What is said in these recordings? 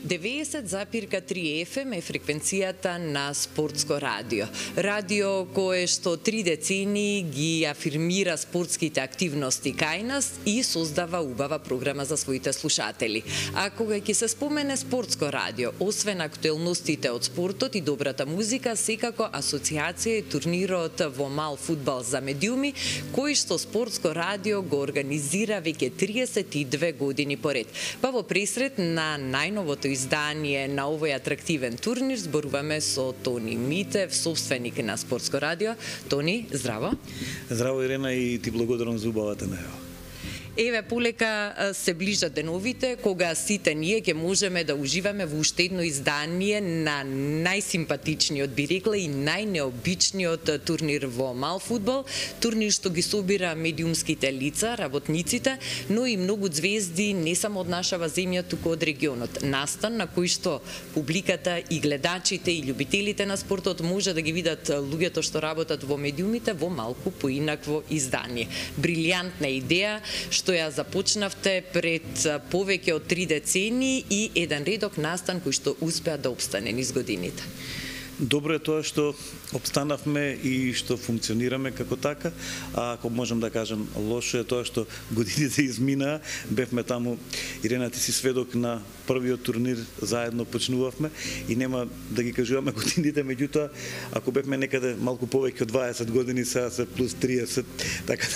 90,3 FM е фреквенцијата на Спортско радио. Радио кое што 3 децении ги афирмира спортските активности кај нас и создава убава програма за своите слушатели. А кога ќе се спомене Спортско радио, освен актуелностите од спортот и добрата музика, секако асоциација е турнирот во мал фудбал за медиуми, кој што Спортско радио го организира веќе 32 години поред. Па во пресрет на најновото издание на овој атрактивен турнир зборуваме со Тони Митев, собственик на Спортско радио. Тони, здраво. Здраво, Ирена, и ти благодарам за убавата најава. Еве, полека се ближат деновите кога сите ние ќе можеме да уживаме во уште едно издание на најсимпатичниот, би рекла, и најнеобичниот турнир во мал фудбал, турнир што ги собира медиумските лица, работниците, но и многу звезди не само од нашава земја, туку од регионот. Настан на кој што публиката и гледачите и љубителите на спортот може да ги видат луѓето што работат во медиумите во малку поинакво издание. Брилјантна идеја што ја започнавте пред повеќе од 3 децении и еден редок настан кој што успеа да обстане низ годините. Добро е тоа што обстанавме и што функционираме како така, а ако можам да кажам лошо е тоа што годините изминаа, бевме таму, Ирена, ти си сведок на првиот турнир, заедно почнувавме и нема да ги кажуваме годините, меѓутоа ако бевме некаде малку повеќе од 20 години, сега се плюс 30, така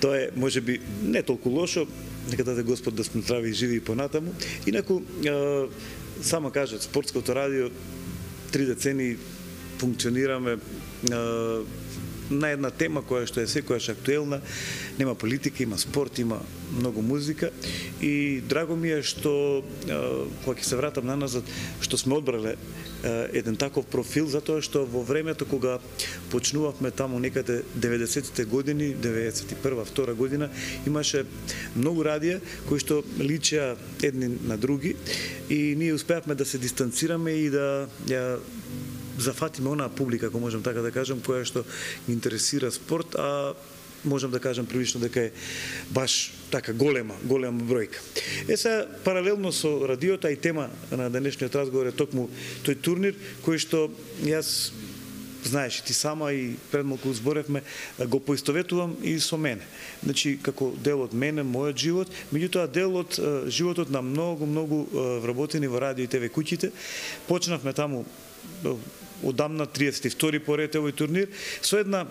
тоа е можеби не толку лошо, нека даде Господ да сме здрави и живи и понатаму. Инаку само кажат Спортското радио 3 децении функционираме на една тема која што е секојаш актуелна, нема политика, има спорт, има многу музика и драго ми е што кога ќе се вратам наназад што сме одбрале еден таков профил, затоа што во времето кога почнувавме таму некаде 90-тите години, 91-2 година, имаше многу радија кои што личеа едни на други и ние успеавме да се дистанцираме и да ја зафатиме онаа публика, ако можам така да кажам, која што ги интересира спорт, а можам да кажам прилично дека е баш така голема бројка. Сега, паралелно со радиото, и тема на денешниот разговор е токму тој турнир, кој што јас, знаеш, ти сама и пред малку зборевме, го поистоветувам и со мене. Значи, како дел од мене, мојот живот, меѓутоа дел од животот на многу вработени во радио и ТВ куќите. Почнавме таму одамна 32-ти поред овој турнир со една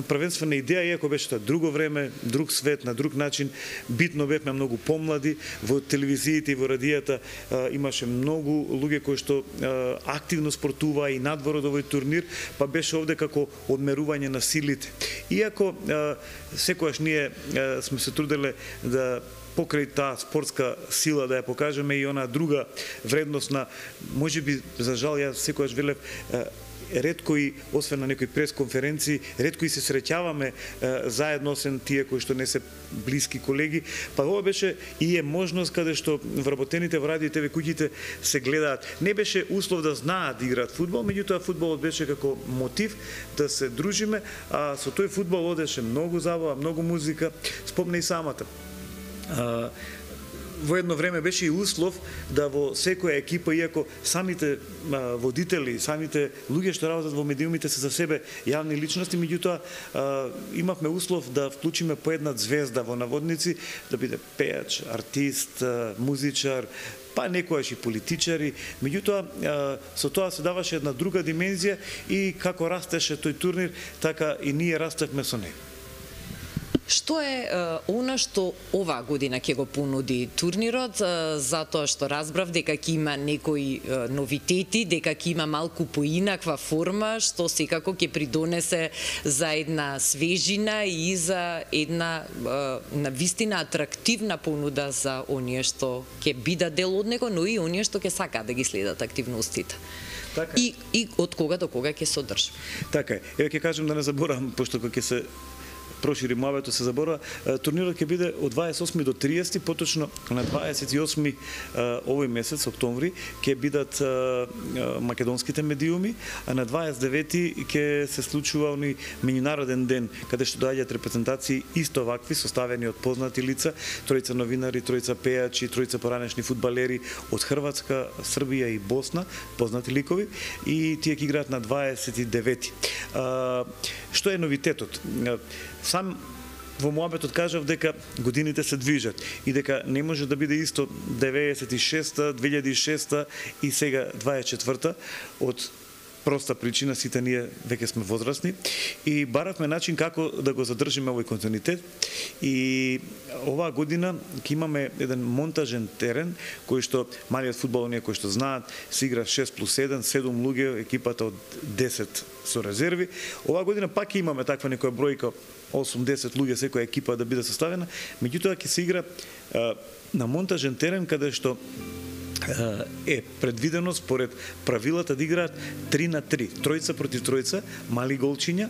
првенствена идеја, иако беше тоа друго време, друг свет, на друг начин, битно бевме многу помлади, во телевизиите и во радијата имаше многу луѓе кои што активно спортуваа и надвор од овој турнир, па беше овде како одмерување на силите. Иако секогаш ние сме се труделе да покрај таа спортска сила да ја покажеме и она друга вредност на, можеби, за жал, јас секогаш велев, ретко и, освен на некои пресконференции, ретко и се среќаваме заедно, освен тие кои што не се блиски колеги, па ова беше и е можност каде што вработените во радио и ТВ куќите се гледаат. Не беше услов да знаат да играат фудбал, меѓутоа фудбалот беше како мотив да се дружиме, а со тој фудбал одеше многу забава, многу музика, спомне и самата. Во едно време беше и услов да во секоја екипа, иако самите водители, самите луѓе што работат во медиумите се за себе јавни личности, меѓутоа имавме услов да вклучиме по една звезда во наводници, да биде пејач, артист, музичар, па некојаш и политичари, меѓутоа со тоа се даваше една друга димензија и како растеше тој турнир, така и ние растевме со него. Што е она што оваа година ќе го понуди турнирот, затоа што разбрав дека ќе има некои новитети, дека ќе има малку поинаква форма, што секако ќе придонесе за една свежина и за една навистина атрактивна понуда за оние што ќе бидат дел од него, но и оние што ќе сакаат да ги следат активностите. Така. И од кога до кога ќе се одржи. Така е. Еве ќе кажам да не заборавам, пошто кога ќе се прошири муабето, се заборува. Турнирот ќе биде од 28 до 30, поточно на 28 овој месец, октомври, ќе бидат македонските медиуми, а на 29 ќе се случува оној меѓународен ден, каде што доаѓаат репрезентации исто вакви, составени од познати лица, тројца новинари, тројца пејачи, тројца поранешни фудбалери од Хрватска, Србија и Босна, познати ликови, и тие ќе играат на 29. Што е новитетот? Сам во муабетот кажав дека годините се движат и дека не може да биде исто 96-та, 2006-та и сега 24-та, од проста причина, сите ние веќе сме возрастни и баравме начин како да го задржиме овој континуитет. И оваа година ќе имаме еден монтажен терен кој што малиот фудбал, оние кои што знаат, се игра 6+1, 7 луѓе, екипата од 10 со резерви. Оваа година пак ќе имаме таква некоја бројка, 8-10 луѓе секоја екипа да биде составена, меѓутоа ќе се игра на монтажен терен каде што е предвидено според правилата да играат 3-3, тројца против тројца, мали голчиња,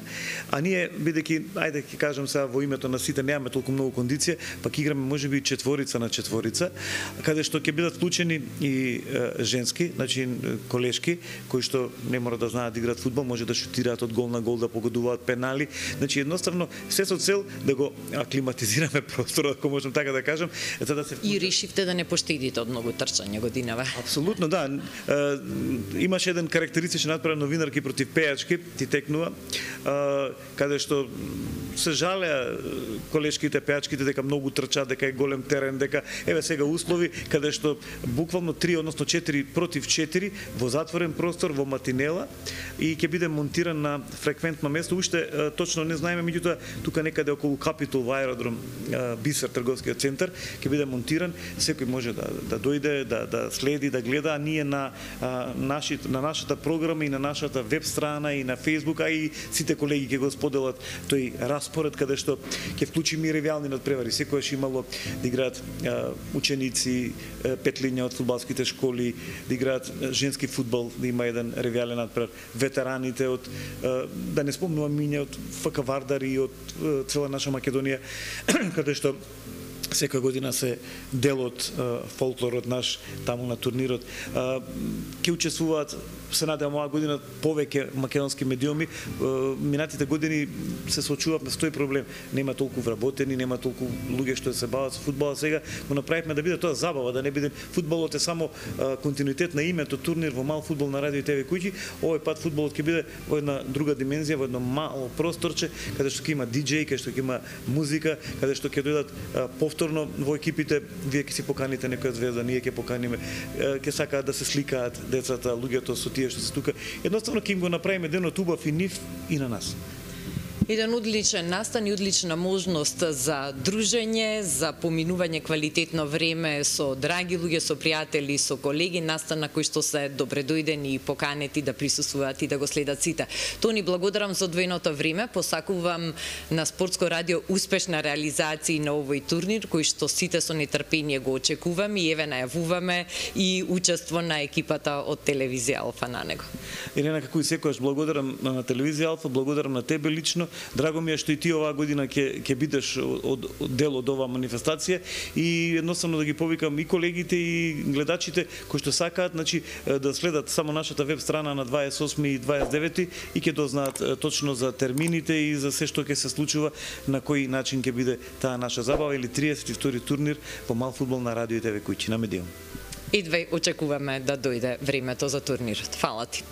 а ние бидејќи, ајде ќе кажам сега во името на сите, немаме толку многу кондиција, пак играме можеби четворица на четворица, каде што ќе бидат вклучени и женски, значи колешки кои што не мора да знаат да играат фудбал, може да шутираат од гол на гол, да погодуваат пенали, значи едноставно се со цел да го аклиматизираме просторот, ако можам така да кажам, за да се и решивте да не поштедите од многу трчање годинава. Апсолутно, да. Имаше еден карактеристичен надпревар новинарки против пејачки, ти текнува, каде што се жалеа колешките, пејачките дека многу трчаат, дека е голем терен, дека еве сега услови каде што буквално 3, односно 4 против 4 во затворен простор, во матинела, и ќе биде монтиран на фреквентно место. Уште точно не знаеме, меѓутоа тука некаде околу Капитол во аеродром Бисер, трговскиот центар, ќе биде монтиран. Секој може да дојде, да следи, да гледа, а ние на нашата програма и на нашата веб страна и на Facebook, а и сите колеги ќе го споделат тој распоред каде што ќе вклучиме и ревијални надпревари. Секојаш имало да играат ученици, петлиња од фудбалските школи, да играат женски фудбал, да има еден ревијален надпревар, ветераните од, да не спомнувам име, од ФК Вардар и од цела наша Македонија, каде што секоја година се дел од фолклорот наш таму на турнирот. Ќе учествуваат, се надевам оваа година, повеќе македонски медиуми. Минатите години се соочувавме со тој проблем. Нема толку вработени, нема толку луѓе што се бават со фудбала. Сега го направивме да биде тоа забава, да не биде фудбалот е само континуитет на името турнир во мал фудбал на радио и ТВ куќи. Овој пат фудбалот ќе биде во една друга димензија, во едно мало просторче, каде што ќе има диџеј, каде што ќе има музика, каде што ќе дојдат повторно во екипите. Вие ќе си поканите некоја звезда, ние ќе поканиме, ќе сакаат да се сликаат децата, луѓето со тие што се тука. Едноставно ќе им го направиме денот убав и нив и на нас. Еден одличен настан и одлична можност за дружење, за поминување квалитетно време со драги луѓе, со пријатели, со колеги, настан на кој што се добредојдени и поканети да присуствуваат и да го следат сите. Тони, благодарам за одвоеното време, посакувам на Спортско радио успешна реализација на овој турнир, кој што сите со нетрпение го очекуваме и еве најавуваме и учество на екипата од телевизија Алфа на него. Елена, како и секојаш, благодарам на телевизија Алфа, благодарам на тебе лично. Драго ми е што и ти оваа година ќе бидеш дел од оваа манифестација и едноставно да ги повикам и колегите и гледачите кои што сакаат, значи да следат само нашата веб страна на 28 и 29 и ќе дознаат точно за термините и за се што ќе се случува, на кој начин ќе биде таа наша забава или 32-ти турнир во мал фудбал на радио и ТВ куќи на Медиум. Едвај очекуваме да дојде времето за турнирот. Фала ти.